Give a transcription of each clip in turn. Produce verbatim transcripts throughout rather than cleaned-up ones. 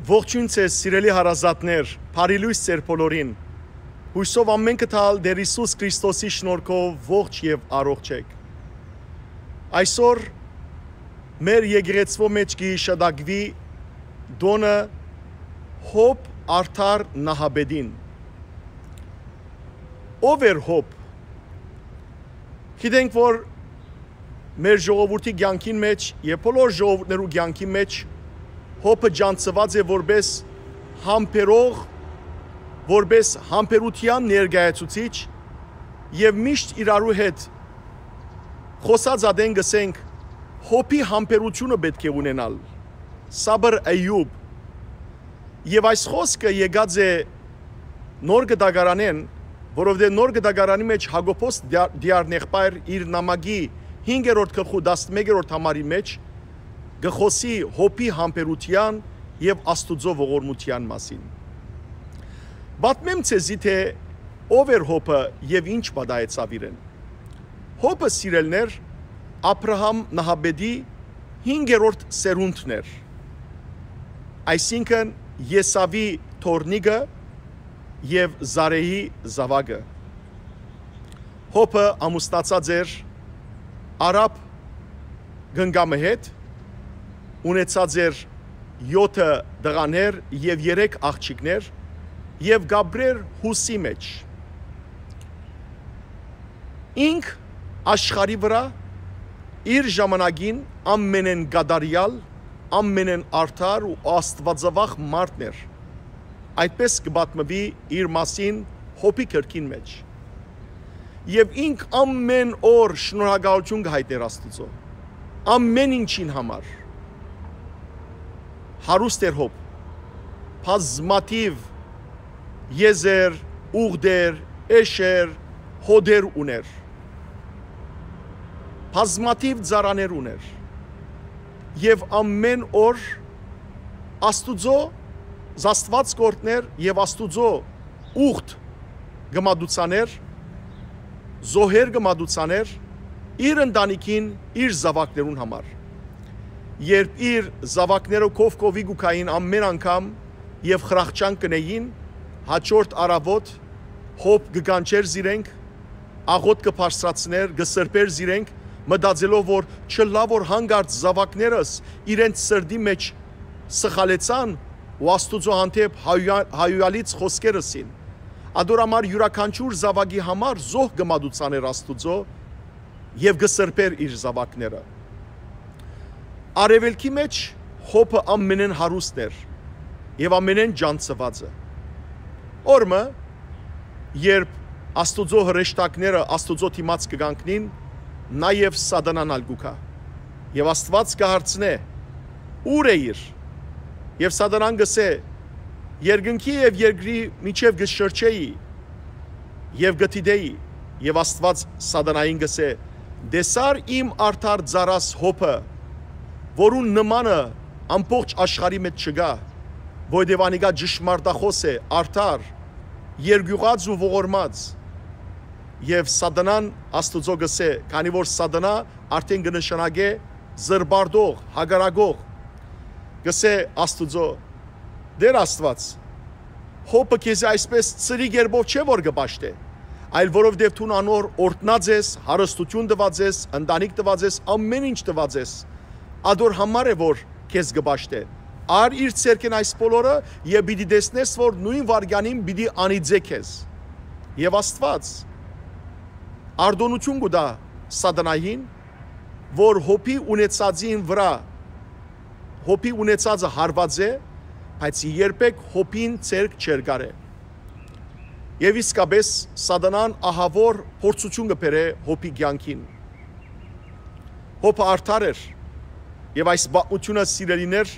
Ողջույն ձեզ, սիրելի հարազատներ, բարի լոյս ձեր բոլորին։ Հոյսով ամէնքը թալ Տէր Յիսուս Քրիստոսի շնորհքով ողջ եւ առողջ էք։ Այսօր մեր եկեղեցւոյ մէջ կը յիշատակուի տօնը Հոբ Արդար Նահապետին։ Ո՞վ էր Հոբ։ Գիտենք, որ մեր ժողովուրդի կեանքին մէջ եւ բոլոր ժողովուրդներու կեանքին մէջ Հոբը ճանչցուած է որպէս համբերող, որպէս համբերութեան ներկայացուցիչ եւ միշտ իրարու հետ խօսած ատեն կ'ըսենք, Հոբի համբերութիւնը պէտք է ունենալ, Սաբր Էյուբ։ Եւ այս խօսքը եկած է Նոր Կտակարանէն, որովհետեւ Նոր Կտակարանի մէջ Յակոբոս Տիա-, Տիարնեղբայր իր նամակի հինգերորդ գլխու տասնմեկերորդ համարի մէջ կը խօսի Հոբի համբերութեան եւ Աստուծոյ ողորմութեան մասին։ Պատմեմ ձեզի, թէ ո՞վ էր Հոբը եւ ի՞նչ պատահեցաւ իրեն։ Հոբը, սիրելիներ, Աբրահամ Նահապետի հինգերորդ սերունդն էր, այսինքն՝ Եսաւի թոռնիկը եւ Զարէհի զաւակը։ Հոբը ամուսնացած էր արաբ կնկամը հետ, ունեցած էր եօթը տղաներ եւ երեք աղջիկներ եւ կ'ապրէր Հուսի մէջ։ Ինք աշխարհի վրայ իր ժամանակին ամենէն կատարեալ, ամենէն արդար ու աստուածավախ մարդն էր։ Այդպէս կը պատմուի իր մասին Հոբի գրքին մէջ։ Եւ ինք ամէն օր շնորհակալութիւն կը յայտնէր Աստուծոյ, ամէն ինչին համար։ Հարուստ էր Հոբ, բազմաթիւ եզեր, ուղտեր, էշեր, հօտեր ունէր, բազմաթիւ ծառաներ ունէր եւ ամէն օր Աստուծոյ զաստուած կ'օրհնէր եւ Աստուծոյ ուղտ կը մատուցանէր, զոհեր կը մատուցանէր իր ընտանիքին, իր զաւակներուն համար։ Երբ իր զաւակները քով քովի կու գային ամէն անգամ եւ խրախճանք կ'ընէին, հաջորդ առաւօտ Հոբ կը կանչէր զիրենք, աղօթք կը բարձրացնէր, կը սրբէր զիրենք, մտածելով, որ չըլլայ որ յանկարծ զաւակներս իրենց սրտի մէջ սխալեցան ու Աստուծոյ հանդէպ հայոյա-, հայոյալից խօսքեր ըսին։ Ատոր համար իւրաքանչիւր զաւակի համար զոհ կը մատուցանէր Աստուծոյ եւ կը սրբէր իր զաւակները։ Արեւելքի մէջ Հոբը ամենէն հարուստն էր եւ ամենէն ճանչցուածը։ Օր մը, երբ Աստուծոյ հրեշտակները Աստուծոյ դիմաց կը կանգնին, նաեւ Սատանան ալ կու գայ։ Եւ Աստուած կը հարցնէ. «Ո՞ւր էիր»։ Եւ Սատանան կ'ըսէ. «Երկնքի եւ երկրի միջեւ կը շրջէի եւ կը դիտէի»։ Եւ Աստուած Սատանային կ'ըսէ. «Տեսա՞ր իմ արդար ծառաս Հոբը, որուն նմանը ամբողջ աշխարհի մէջ չկայ, որովհետեւ անիկա ճշմարտախօս է, արդար, երկիւղած ու ողորմած»։ Եւ Սատանան Աստուծոյ կ'ըսէ, քանի որ Սատանա արդէն կը նշանակէ զրպարտող, հակառակող, կ'ըսէ Աստուծոյ. «Տէր Աստուած, Հոբը քեզի այսպէս ծրի կերպով չէ՞ որ կը պաշտէ, այլ որովհետեւ դուն անոր օրհնած ես, հարստութիւն տուած ես, ընտանիք տուած ես, ամէն ինչ տուած ես, ատոր համար է որ քեզ կը պաշտէ։ Առ իր ձեռքէն այս բոլորը եւ պիտի տեսնես, որ նոյն վայրկեանին պիտի անիծէ քեզ»։ Եւ Աստուած արտօնութիւն կու տայ Սատանային, որ Հոբի ունեցածին վրայ, Հոբի ունեցածը հարուած է, բայց երբեք Հոբին ձեռք չէր կարէ։ Եւ իսկապես Սատանան ահաւոր փորձութիւն կը բերէ Հոբի կեանքին։ Հոբը արդար էր, եւ այս պատմութիւնը, սիրելիներ,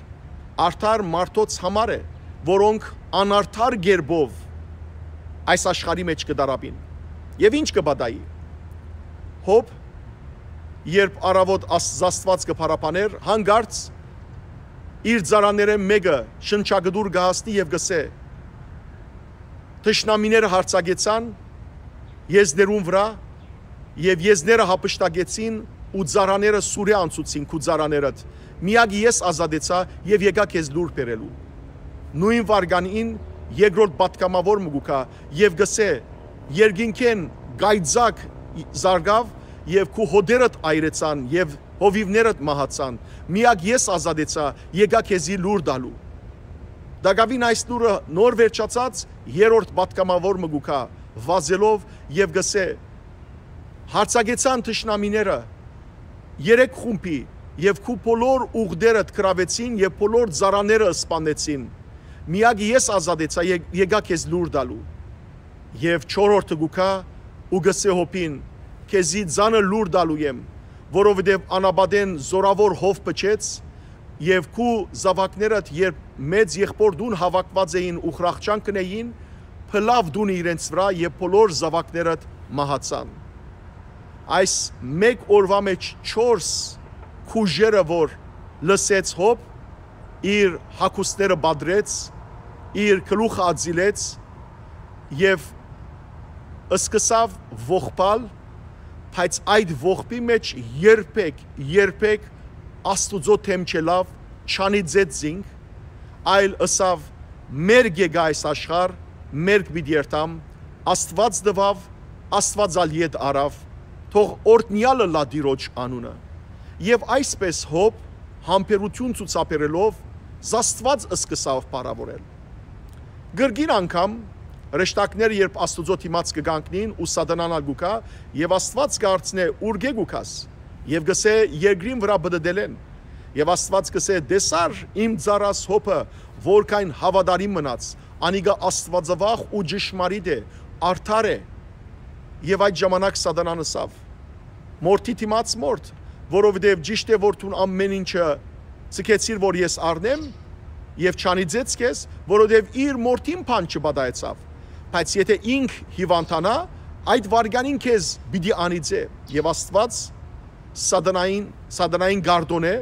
արդար մարդոց համար է, որոնք անարդար կերպով այս աշխարհի մէջ կը տարապին։ Եւ ի՞նչ կը պատահի։ Հոբ, երբ առաւօտ Աս-, Աստուած կը փառաբաներ, յանկարծ իր ծառաներէն մէկը շնչակտուր կը հասնի եւ կ'ըսէ. «Թշնամիները յարձակեցան եզներուն վրայ եւ եզները յափշտակեցին ու ծառաները սուրէ անցուցին քու ծառաներդ։ Միակը ես ազատեցայ եւ եկայ քեզ լուր բերելու»։ Նոյն վարկանին երկրորդ պատգամաւոր մը կու գայ եւ կ'ըսէ. «Երկինքէն կայծակ զարկաւ եւ քու հօտերդ այրեցան եւ հովիւներդ մահացան։ Միակ ես ազատեցայ, եկայ քեզի լուր տալու»։ Տակաւին այս լուրը նոր վերջացած երրորդ պատգամաւոր մը կու գայ վազելով եւ կ'ըսէ. «Յարձակեցան թշնամիները երեք խումբի եւ քու բոլոր ուղտերդ գրաւեցին եւ բոլոր ծառաները սպանեցին։ Միակ ես ազատեցայ, ե-, եկայ քեզ լուր տալու»։ Եւ չորրորդը կու գայ ու կ'ըսէ հոբին. «Քեզի ծանր լուր տալու եմ, որովհետեւ անապատէն զօրաւոր հով փչեց եւ քու զաւակներդ, երբ մեծ եղբոր տուն հաւաքուած էին ու խրախճան կ'ընէին, փլաւ տունը իրենց վրայ եւ բոլոր զաւակներդ մահացան»։ Այս մէկ օրուայ մէջ չորս քուժերը որ լսեց հոբ, իր հագուստները պատռեց, իր գլուխը ածիլեց եւ սկսաւ ողբալ, բայց այդ ողբի մէջ երբեք, երբեք Աստուծոյ դէմ չելաւ, չանիծեց զինք, այլ ըսաւ. «Մերկ եկայ այս աշխարհ, մերկ պիտի երթամ, Աստուած տուաւ, Աստուած ալ ետ առաւ, թող օրհնեալ ըլլայ Տիրոջ անունը»։ Եւ այսպէս հոբ, համբերութիւն ցուցաբերելով, զաստուած սկսաւ փառաւորել։ Կրկին անգամ, հրեշտակները երբ Աստուծոյ դիմաց կը կանգնին ու Սատանան ալ կու գայ, եւ Աստուած կ'արցնէ. «Ուրկէ՞ կու գաս»։ Եւ կ'ըսէ. «Երկրին վրայ պտտել են»։ Եւ Աստուած կ'ըսէ. «Տեսա՞ր իմ ծառաս Հոբը, որքան հաւատարիմ մնաց, անիկա աստուածավախ ու ճշմարիտ է, արդար է»։ Եւ այդ ժամանակ Սատանան ըսաւ. «Մորթի դիմաց մորթ, որովհետեւ ճիշդ է որ դուն ամէն ինչը ձգեցիր որ ես առնեմ, եւ չանիծեց քեզ, որովհետեւ իր մորթին բան չպատահեցաւ, բայց եթէ ինք հիւանդանայ, այդ վայրկյանին քեզ պիտի անիծէ»։ Եւ Աստուած Սատանային, Սատանային կ'արտօնէ,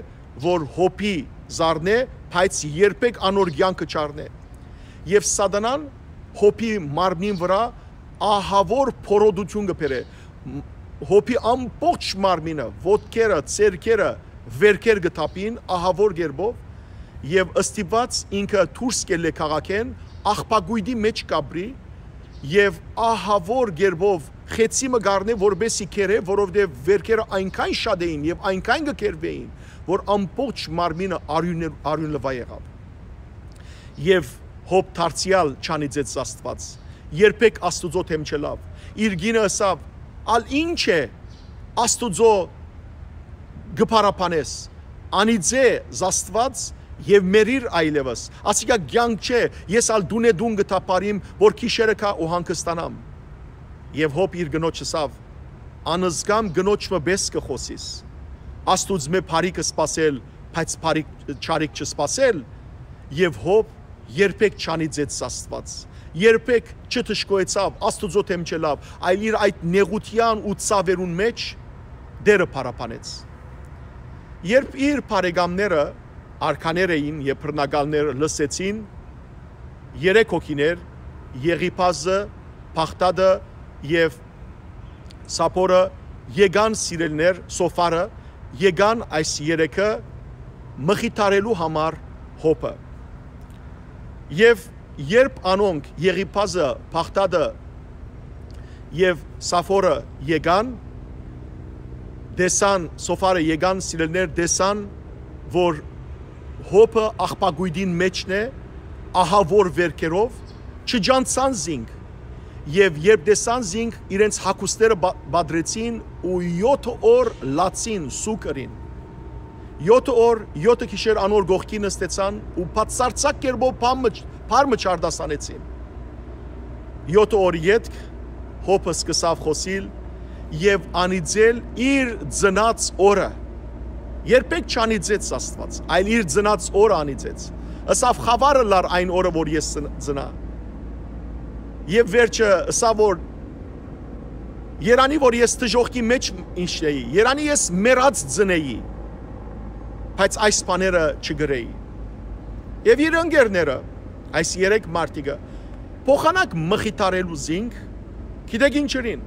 որ Հոբի զարնէ, բայց երբեք անոր կեանքը չառնէ։ Եւ Սատանան Հոբի մարմնին վրայ ահաւոր փորոտութիւն կը բերէ։ Հոբի ամբողջ մարմինը, ոտքերը, ձեռքերը, վերքեր կը թափին ահաւոր կերպով, եւ ստիպուած ինքը դուրս կ'ելլէ քաղաքէն, աղբակոյտի մէջ կ'ապրի, եւ ահաւոր կերպով խեցի մը կ'առնէ, որպէսզի կերէ, որովհետեւ վերքերը այնքան շատ էին եւ այնքան կը կերուէին, որ ամբողջ մարմինը արիւնը, արիւնլուայ եղաւ։ Եւ Հոբ դարձեալ չանիծեց Աստուած, երբեք Աստուծոյ դէմ չելաւ։ Իր կինը ըսաւ. «Ալ ի՞նչ է, Աստուծոյ կը փառաբանես, անիծէ զաստուած եւ մեռիր այլեւս։ Ասիկա կեանք չէ, ես ալ տունէ տուն կը թափառիմ, որ գիշերը գայ ու հանգստանամ»։ Եւ Հոբ իր կնոջ ըսաւ. «Անզգամ կնոջ մը պէս կը խօսիս։ Աստուծմէ բարի կը սպասել, բայց բարի չարիք չսպասել»։ Եւ Հոբ երբեք չանիծեց Աստուած, երբեք չդժգոհեցաւ, Աստուծոյ դէմ չելաւ, այլ իր այդ նեղութեան ու ցաւերուն մէջ Տէրը փառաբանեց։ Երբ իր բարեկամները արքաներ էին եւ բռնակալներ լսեցին, երեք հոգիներ՝ Եղիփազը, Բաղդադը եւ Սափորը եկան սիրելիներ, Սոֆարը եկան այս երեքը մխիթարելու համար Հոբը։ Եւ երբ անոնք՝ Եղիփազը, Բաղդադը եւ Սափորը եկան, տեսան, Սոֆարը եկան, սիրելիներ, տեսան, որ Հոբը աղբակոյտին մէջն է, ահաւոր վերքերով, չջանցան զինք, եւ երբ տեսան զինք, իրենց հագուստները բա-, բադրեցին ու յոթ օր լացին, սուգ ըրին։ Յոթ օր, յոթը գիշեր անոր կողքին նստեցան ու բացարձակ կերպով բան մը չ-, բառ մը չարտասանեցին։ Յոթ օր ետք Հոբը սկսաւ խօսիլ եւ անիծել իր ծնած օրը։ Երբեք չանիծեց Աստուած, այլ իր ծնած օրը անիծեց։ Ըսաւ. «Խաւար ըլլար այն օրը, որ ես ծն-, ծնայ»։ Եւ վերջը ըսաւ, որ «Երանի, որ ես դժոխքի մէջ մինչնէի, երանի ես մեռած ծնէի, բայց այս բաները չկրէի»։ Եւ իր ընկերները, այս երեք մարդիկը, փոխանակ մխիթարելու զինք, գիտեք ինչ ըրին,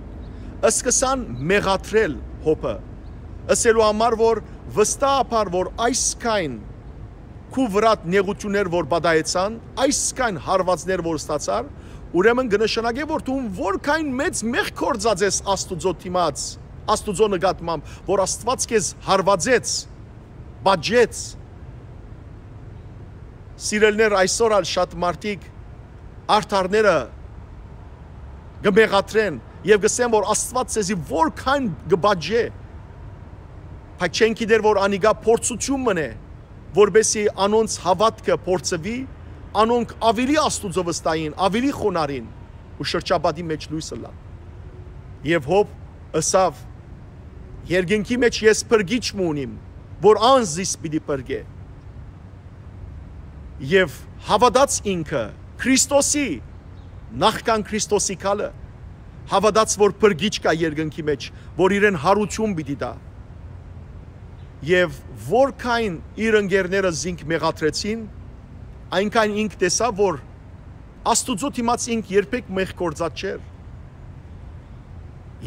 սկսան մեղադրել Հոբը, ըսելու համար, որ վստահաբար, որ այսքան քու վրադ նեղութիւններ որ պատահեցան, այսքան հարվածներ որ ստացար, ուրեմն կը նշանակէ որ դու որքան մեծ մեղք գործած ես Աստուծոյ դիմաց, Աստուծոյ նկատմամբ, որ Աստուած քեզ հարվածեց, պատժեց։ Սիրելիներ, այսօր ալ շատ մարդիկ արդարները կը մեղադրեն եւ կ'ըսեն որ Աստուած ձեզի որքան կը պատժէ, բայց չեն գիտեր որ անիկա փորձութիւն մըն է, որպեսզի անոնց հաւատքը փորձուի, անոնք աւելի Աստուծոյ վստահին, աւելի խոնարհին ու շրջապատի մէջ լոյս ըլլան։ Եւ Յոբ ըսաւ. «Երկնքի մէջ ես փրկիչ մը ունիմ, որ անձ զիս պիտի փրկէ»։ Եւ հաւատաց ինքը Քրիստոսի, նախքան Քրիստոսի գալը, հաւատաց որ փրկիչ կայ երկնքի մէջ, որ իրեն յարութիւն պիտի տայ։ Եւ որքան իր ընկերները զինք մեղադրեցին, այնքան ինք տեսաւ որ Աստուծոյ դիմաց ինք երբեք մեղք գործած չէր։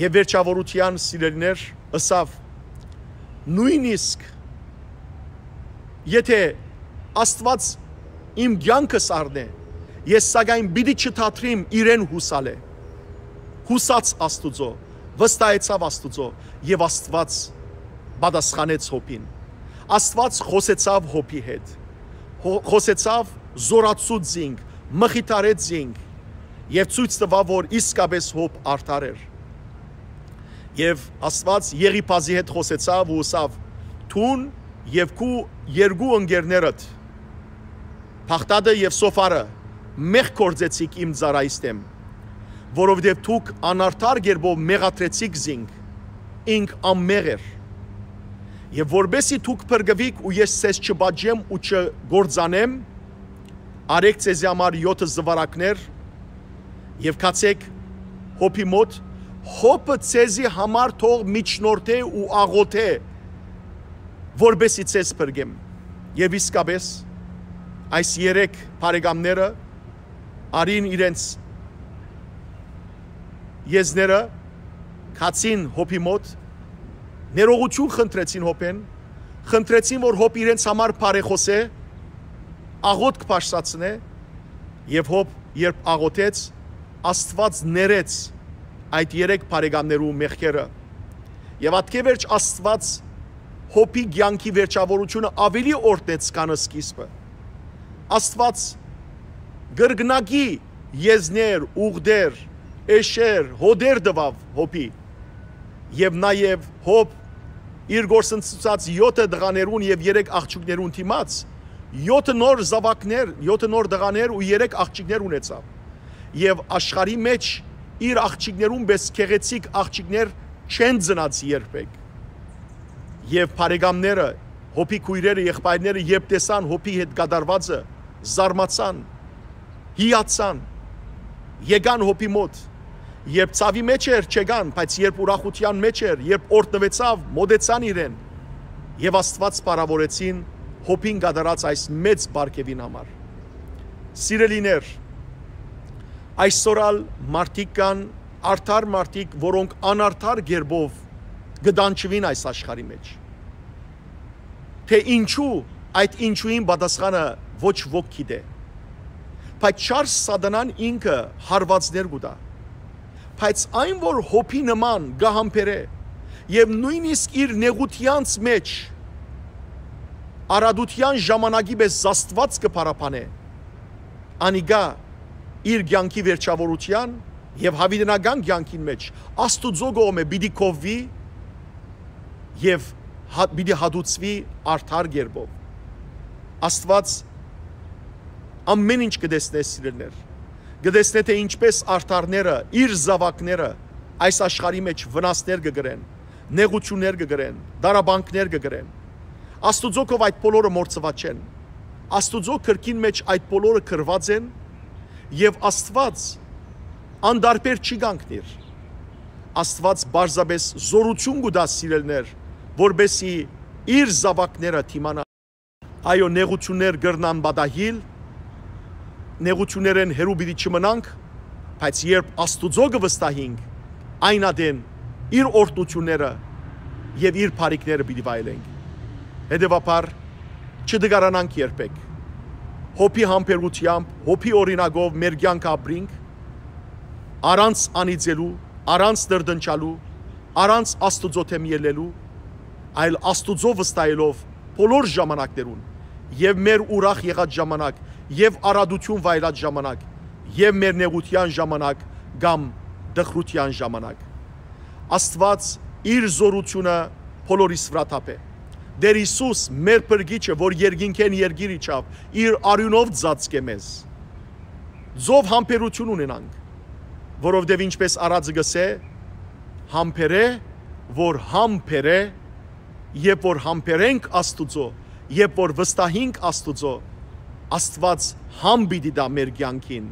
Եւ վերջաւորութեան, սիրելիներ, ըսաւ. «Նոյնիսկ եթէ Աստուած իմ կեանքս առնէ, ես սակայն պիտի չթատրիմ իրեն յուսալէ»։ Յուսաց Աստուծոյ, վստահեցաւ Աստուծոյ եւ Աստուած պատասխանեց Յոբին։ Աստուած խօսեցաւ Յոբի հետ։ Հո-, խօսեցաւ, զօրացուց զինք, մխիթարեց զինք եւ ցոյց տուաւ որ իսկապէս Յոբ արդար էր։ Եւ Աստուած Եղիփազի հետ խօսեցաւ ու ըսաւ. «Դուն եւ քու երկու ընկերներդ, Փախտատը եւ Սոֆարը, մեղք գործեցիք իմ ծառայիս դէմ, որովհետեւ դուք անարդար կերպով մեղադրեցիք զինք, ինք անմեղ էր։ Եւ որպեսզի դուք փրկուիք ու ես ձեզ չպատժեմ ու չկործանեմ, արեք ձեզի համար եօթը զուարակներ եւ գացեք Յոբի մօտ, Յոբը ձեզի համար թող միջնորդէ ու աղօթէ, որպեսզի ձեզ փրկեմ»։ Եւ իսկապէս, այս երեք բարեկամները առին իրենց եզները, գացին Յոբի մօտ, ներողութիւն խնդրեցին Յոբէն, խնդրեցին որ Յոբ իրենց համար բարեխօսէ, աղօթք բարձրացնէ, եւ Յոբ երբ աղօթեց, Աստուած ներեց այդ երեք բարեկամներու մեղքերը։ Եւ ատկէ վերջ Աստուած Յոբի կեանքի վերջաւորութիւնը աւելի օրհնեց քան սկիզբը։ Աստուած կրկնակի եզներ, ուղտեր, էշեր, հօտեր տուաւ Յոբի։ Եւ նաեւ Յոբ իր գործընծուցած եօթը տղաներուն եւ երեք աղջիկներուն դիմաց, եօթը նոր զաւակներ, եօթը նոր տղաներ ու երեք աղջիկներ ունեցաւ։ Եւ աշխարհի մէջ իր աղջիկներուն պէս գեղեցիկ աղջիկներ չեն ծնած երբեք։ Եւ բարեկամները, Յոբի քոյրերը, եղբայրները, երբ տեսան Յոբի հետ կատարուածը, զարմացան, հիացան, եկան Յոբի մօտ։ Երբ ցաւի մէջ էր, չեկան, բայց երբ ուրախութեան մէջ էր, երբ օրհնուեցաւ, մօտեցան իրեն եւ Աստուած փառաւորեցին Յոբին կատարած այս մեծ պարգեւին համար։ Սիրելիներ, այսօր ալ մարդիկ կան, արդար մարդիկ, որոնք անարդար կերպով կտանջուին այս աշխարհի մէջ։ Թէ ինչու, այդ ինչուին պատասխանը ոչ ոք գիտէ։ Բայց չար սատանան ինքը հարվածներ կու տայ։ Բայց այն որ Յոբի նման կը համբերէ եւ նոյնիսկ իր նեղութեանց մէջ արատութեան ժամանակի պէս զաստուած կը փառաբանէ, անիկա իր կեանքի վերջաւորութեան եւ յաւիտենական կեանքին մէջ Աստուծոյ կողմէ պիտի կովուի եւ հա-, պիտի հատուցուի արդար կերպով։ Աստուած ամեն ինչ կը տեսնէ, սիրելիներ, կը տեսնէ, թէ ինչպէս արդարները, իր զաւակները այս աշխարհի մէջ վնասներ կը կրեն, նեղութիւններ կը կրեն, դարաբանքներ կը կրեն։ Աստուծոյ կով այդ բոլորը մոռցուած չեն։ Աստուծոյ կրկին մէջ այդ բոլորը գրուած են եւ Աստուած անտարբեր չի կանգնիր։ Աստուած պարզապէս զօրութիւն կու տայ, սիրելիներ, որպեսզի իր զաւակները դիմանան։ Այո, նեղութիւններ կրնան պատահիլ, նեղութիւններէն հեռու պիտի չմնանք, բայց երբ Աստուծոյ կը վստահինք, այն ատեն իր օրհնութիւնները եւ իր բարիքները պիտի վայելենք։ Հետեւաբար, Չտկարանանք երբեք։ Հոբի համբերութեամբ, հոբի օրինակով մեր կեանքը ապրինք, առանց անիծելու, առանց տրտնջալու, առանց Աստուծոյ դէմ ելլելու, այլ Աստուծոյ վստահելով բոլոր ժամանակներուն, եւ մեր ուրախ եղած ժամանակ, եւ առատութիւն վայելած ժամանակ, եւ մեր նեղութեան ժամանակ կամ տխրութեան ժամանակ։ Աստուած իր զօրութիւնը բոլորիս վրայ թափէ։ Տէր Յիսուս, մեր փրկիչը, որ երկինքէն երկիր իջաւ, իր արիւնով ծածկէ մեզ։ Ծով համբերութիւն ունենանք, որովհետեւ, ինչպէս արածը կ'ըսէ, համբերէ, որ համբերէ, երբ որ համբերենք Աստուծոյ, երբ որ վստահինք Աստուծոյ, Աստուած համ պիտի տայ մեր կեանքին։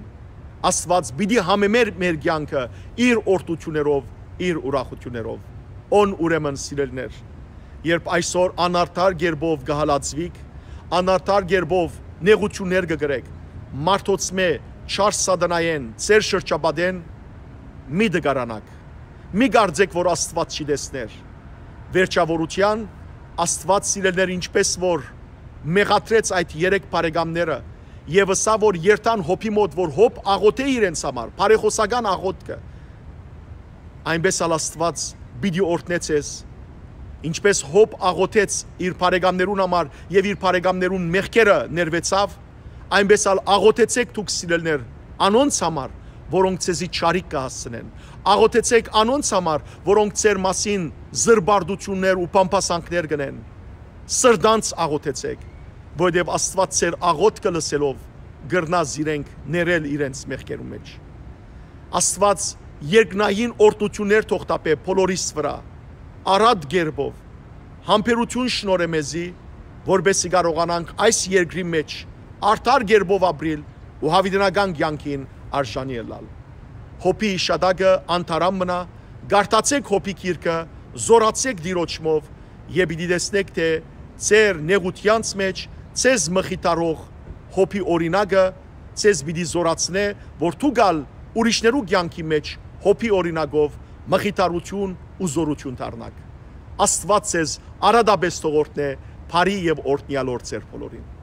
Աստուած պիտի համեմէ մեր կեանքը իր օրհնութիւններով, իր ուրախութիւններով։ Ուն ուրեմն, սիրելիներ, երբ այսօր անարդար կերպով կը հալածուիք, անարդար կերպով նեղութիւններ կը կրէք, մարդոցմէ, չար սատանայէն, ձեր շրջապատէն, մի տկարանաք, մի կարծէք, որ Աստուած չի տեսներ։ Վերջաւորութեան, Աստուած, սիրելիներ, ինչպէս որ մեղադրեց այդ երեք բարեկամները եւ ըսաւ, որ երթան Հոբի մօտ, որ Հոբ աղօթէ իրենց համար, բարեխօսական աղօթքը, այնպէս ալ Աստուած պիտի օրհնէ ձեզ, ինչպէս Հոբ աղօթեց իր բարեկամներուն համար եւ իր բարեկամներուն մեղքերը ներուեցաւ, այնպէս ալ աղօթեցէք դուք, սիրելիներ, անոնց համար, որոնք ձեզի չարիք կը հասցնեն։ Աղօթեցէք անոնց համար, որոնք ձեր մասին զրպարտութիւններ ու բամբասանքներ կ'ընեն։ Սրտանց աղօթեցէք, որովհետեւ Աստուած ձեր աղօթքը լսելով կրնայ զիրենք ներել իրենց մեղքերուն մէջ։ Աստուած երկնային օրհնութիւններ թող տապէ բոլորիս վրայ, առատ կերպով, համբերութիւն շնորհէ մեզի, որպէսզի կարողանանք այս երկրի մէջ արդար կերպով ապրիլ ու յաւիտենական կեանքին արժանի ըլլալ։ Հոբի յիշատակը անդարան մնայ, կարդացէք Հոբի գիրքը, զօրացէք Տիրոջմով եւ պիտի տեսնէք թէ ձեր նեղութեանց մէջ ձեզ մխիթարող Հոբի օրինակը ձեզ պիտի զօրացնէ, որ դուք ալ ուրիշներու կեանքի մէջ Հոբի օրինակով մխիթարութիւն ու զօրութիւն դառնաք։ Աստուած ձեզ առատապէս թող օրհնէ, բարի եւ օրհնեալ օր ձեր բոլորին։